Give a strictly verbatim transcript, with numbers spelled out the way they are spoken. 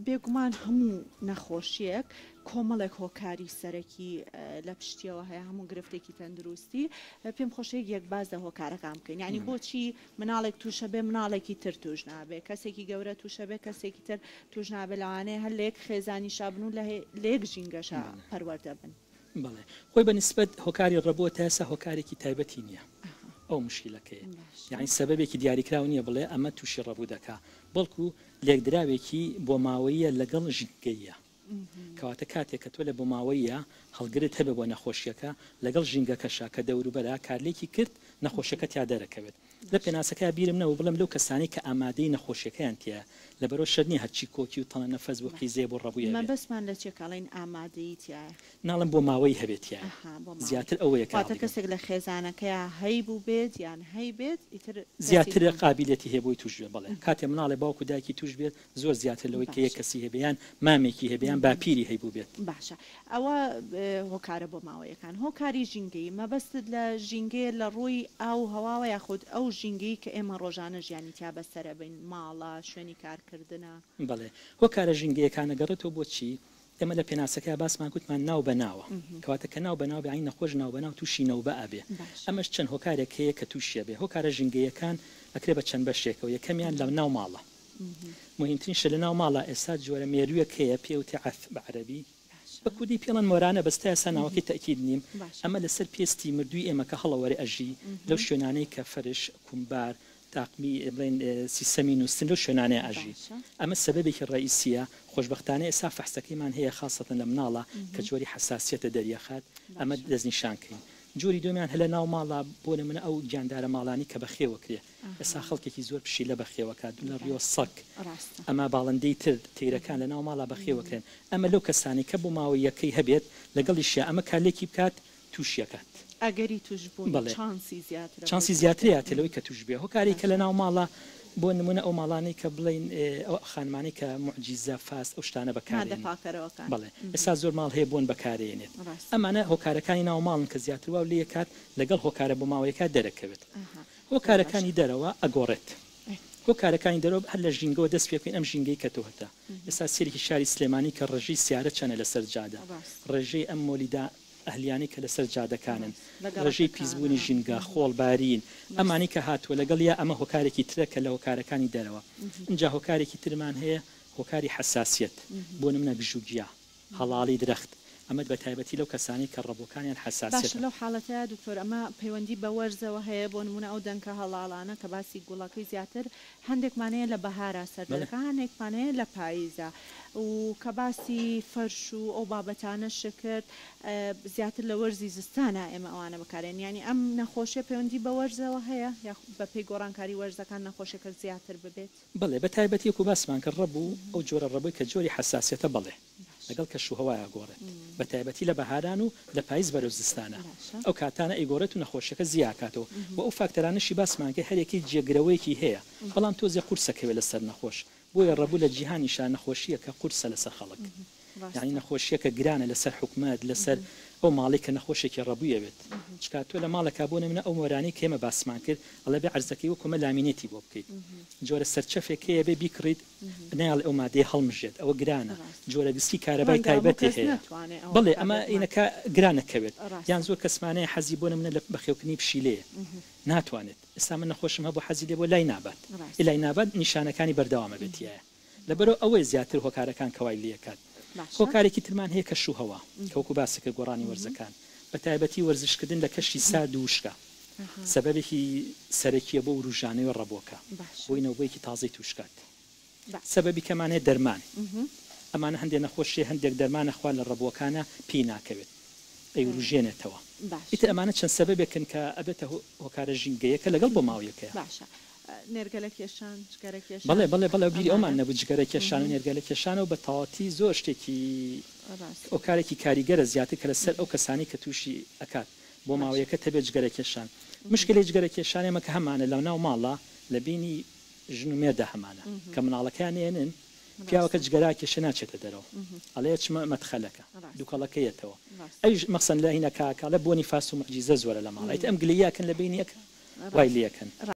بێگومان هەموو نەخۆشیەک کۆمەڵێک هۆکاری سەرەکی لە پشتیەوە هەیە، هەموو گرفتێکی تەندروستی. پێم خۆشەیە یەک باز لە هۆکارەکان بکەین، یعنی بۆچی مناڵێک تووشە بێ مناڵێکی تر توش نابێ، کەسێکی گەورە تووشە بێ کەسێکی تر توش نابێ، لەوانەیە هەر لە یەک خێزانیشا بن و لە یەک ژینگەشا پەروەردە بن. بەڵێ خۆی بە نسبەت هۆکاری ڕەبووە تا ئێستا هۆکارێکی تایبەتی نییە ئەو مشکلەکەیە، یعنی سەبەبێکی دیاریکراو نییە بڵێ ئەمە تووشی ڕەبوو دەکا، بەڵکو لێکدراوێکی بۆماوەیە لەگەڵ ژینگەیە. کەواتە کاتێک کە تۆ لە بۆماوەیە هەڵگرت هەبێ بۆ نەخۆشیەکە لەگەڵ ژینگەکەشا کە دەوروبەرە کارلێکی کرد نەخۆشیەکە تیا دەرەکەوێت. لە پێناسەکە بیرم نەبوو بڵێم لەو کەسانەی کە ئامادەی نەخۆشیەکەیان تیایە، لەبەرەوە شەرت نییە هەرچی کۆکی و تەنە نەفەس بوو قیزێ بۆ ڕەبووی هەبێت. مەبەستمان لە چێ کاڵین ئامادەیی تیایە؟ ناڵم بۆ ماوەی هەبێت تیایە، زیاتر ئەوەیە واتە کەسێک لە خێزانەکەیا هەیبوو بێت یان هەیبێت ئیتر زیاتر قابلیەتی هەیە بۆی توش بێت. بەڵێ کاتێ مناڵێ باوک و دایکی توش بێت زۆر زیاتر لەوەی کە یەک کەسی هەبێ یان مامێکی هەبێ یان باپیری هەیبوو بێت. باشە ئەوە هۆکارە بۆ ماوەیەکان. هۆکاری ژینگەیی مەبەستت لە ژینگەیە لە ڕووی ئاو هەواوە یاخود ئەو ژینگەی کە ئێمە ڕۆژانە ژیانی تیا بەسەرە بین، ماڵە، شوێنی کارکردنە؟ بەڵێ هۆکارە ژینگەیەکانە گەڕێتەوە بۆ چی؟ ئێمە لە پێناسەکە باسمان گوتمان ناو بە ناوە، کەواتە کە ناو بە ناو بێ نەخۆش ناو بە ناو تووشی نەوبە ئەبێ. ئەمەش چەند هۆکارێک هەیە کە تووشیە بێ. هۆکارە ژینگەیەکان ئەکرێ بە چەند بەشێکەوە. یەکەمیان لە ناو ماڵە، مهمترین شت لە ناو ماڵە ئێستا جۆرە مێروویەک هەیە پێوتێ عەف بە عەرەبی، بە کوردی پێڵەن مۆرانە، بەس تا ئێستا ناوەکەی تەئکید نیم. ئەمە لەسەر پێستی مردووی ئێمە کە هەڵەوەرێ ئەژی لەو شوێنانەی کە فەرش، کومبار، تاقمی بڵێن سیستەمی نووسن لەو شوێنانەیە ئەژی. ئەمە سەبەبێکی ڕئیسیە. خۆشبەختانە ئێستا فەحسەکەیمان هەیە خاصەتەن لە مناڵە کە جۆری حەساسیەتە دەریەخات، ئەمە دەستنیشانکەین. جۆری دومیان هەلە ناو ماڵە بۆ نمونە ئەو گیاندارە ماڵانی کە بەخێوەکرێ، ئێستا خەڵکێکی زۆر پشیلە بەخێوەکات لە ڕیۆ سەگ، ئەمە باڵندەی تر تیرەکان لە ناو ماڵە بەخێوەکرێن. ئەمە لەو کەسانی کە بۆ ماوەیەکەی هەبێت لەگەڵیشیا ئەمە کارلێکی بکات تووشیەکات، ئەگەری توش بوون چانسی زیاترە، چانسی زیاترە لەوەی کە توش بێ. هۆکاری کە لە ناو ماڵە بۆ نمونە ئەو ماڵانەی کە بڵین ئەو خانمانەی کە معجیزە فاست ئەو شتانە بەکارێنن، بەڵێ ئێستا زۆر ماڵ هەیە بۆن بەکارێنێت. ئەمانە هۆکارەکانی ناو ماڵن کە زیاتر واو لێکات لەگەڵ هۆکارە بۆ ماوەیەکات دەرەکەوێت. هۆکارەکانی دەرەوە ئەگۆڕێت. هۆکارەکانی دەرەوە هەر لە ژینگەوە دەست پێ بکەین. ئەم ژینگەی کە تۆ هەتە ئێستا سێرێکی شاری سلێمانی کە ڕێژەی سیارە چەنە لەسەر جادە، ڕێژەی ئەم مۆلیدا ئەهلیانی کە لەسەر جادەکانن، ڕێژەی پیسبوونی ژینگە، خۆڵبارین، ئەمانی کە هاتووە لەگەڵ یا ئەمە هۆکارێکی ترە کە لە هۆکارەکانی دەرەوە. اینجا هۆکارێکی ترمان هەیە هۆکاری حەساسیەت، بۆ نمونە گژوگیا، هەڵاڵی درەخت، ئەمە بە تایبەتی لەو کەسانی کە ڕەبۆکانیان حەساسیەتە. باشە لەو حاڵەتەیە دکتۆر ئەمە پەیوەندی بە وەرزەوە هەیە، بۆ نمونە ئەو دەنکە هەڵاڵانە کە باسی گوڵەکەی زیاتر هەندێکمان هەیە لە بەهارا سەردەکە، هەندێکمان هەیە لە پاییزە، و کە باسی فەرش و ئەو بابەتانە شکرد زیاتر لە وەرزی زستانە ئێمە ئەوانە بەکارێن. یعنی ئەم نەخۆشیە پەیوەندی بە وەرزەوە هەیە یا بە پێی گۆڕانکاری وەرزەکان نەخۆشیەکە زیاتر ببێت؟ بەڵێ بە تایبەتی وەکو باسمان کرد ڕەبوو ئەو جۆرە ڕەبووی کە جۆری حەساسیەتە بەڵێ لەگەڵ کەش و هەوایە گۆڕێت، بە تایبەتی لە بەهاران و لە پاییز بەرەو زستانە ئەو کاتانە ئەیگۆڕێت و نەخۆشیەکە زیاکاتەوە. و ئەو فاکتەرانەشی باسمان کرد هەرێکی جێگرەوەیەکی هەیە، بەڵام تۆزێ قورسەکەوێت لەسەر نەخۆش. بۆیە ڕەبوو لە جیهانیشا نەخۆشیەکە قورسە لەسەر خەڵک، یعنی نەخۆشیەکە گرانە لەسەر حکومەت، لەسەر ئەو ماڵی کە نەخۆشێکی ڕەبوویە بێت. چکا تۆ لە ماڵێکا بۆ نمونە ئەو مۆرانەی کە ئێمە باسمان کرد ئەڵێ بێ عەرزەکەی وەکو ئەمە لامینێتی بۆ بکەیت، جۆرە سەرچەفێک هەیە بێ بیکڕیت نایڵێ ئەو مادەیە هەڵمژێت، ئەوە گرانە. جۆرە گسکی کارەبای تایبەتی هەیە، بەڵێ ئەمە ئینەکە گرانەکەوێت. یان زۆر کەسمانەیە حەزی بۆ نمونە لە بەخێوکردنی پشیلەیە ناتوانێت. ئێستا من نەخۆشم هەبوو حەزی لێ بۆ لای نابات، لای نابات نیشانەکانی بەردەوامە بێتیایە. لەبەرەوە ئەوەی زیاتر هۆکارەکان کەوای لێکات. هۆکارێکی ترمان هەیە کەش و هەوا کە وەکو باسی کرد گۆڕانی وەرزەکان، بە تایبەتی وەرزشکردن لە کەشی سارد و وشکە سەبەبێکی سەرەکیە بۆ وروژانەوەی ڕەبۆکە، بۆی نەوبەیەکی تازەی توشکات. سەبەبی کەمان هەیە دەرمان، ئەمانە هەندێک نەخۆشی هەندێک دەرمانە خوا لە ڕەبووەکانە پێی ناکەوێت ئەیوروژێنێتەوە. ئیتر ئەمانە چەند سەبەبێکن کە ئەبێتە هۆکارە ژینگەیەکە لەگەڵ بۆ ماویەکەیە. باشە نێرگەلە کێشان، جگەرە کێشان؟ بەڵێ بەڵێ بەڵێ بیری ئەومان نەبوو جگەرە کێشان و نێرگەلە کێشانەوە بە تەواوەتی زۆر شتێکی هۆکارێکی کاریگەرە زیاتر کە لەسەر ئەو کەسانی کە تووشی ئەکات بۆ ماوەیەکە تەبێت جگەرە کێشان. مشکلەی جگەرە کێشان ئێمە کە هەمانە لە ناو ماڵە لە بینی ژن و مێردە هەمانە کە مناڵەکەیان ێنن پیاوەکە جگەرا کێشە ناچێتە دەرەوە، ئەڵێ چمە مەدخەلەکە دووکەڵەکەیەتەوە، ئەویش مەخسەن لە هینە کاکاڵە بۆنی فاس و معجیزە زۆرە لە ماڵ، ئیتر ئەم گلەییەکەن لە بینیەکە وای لێکەن.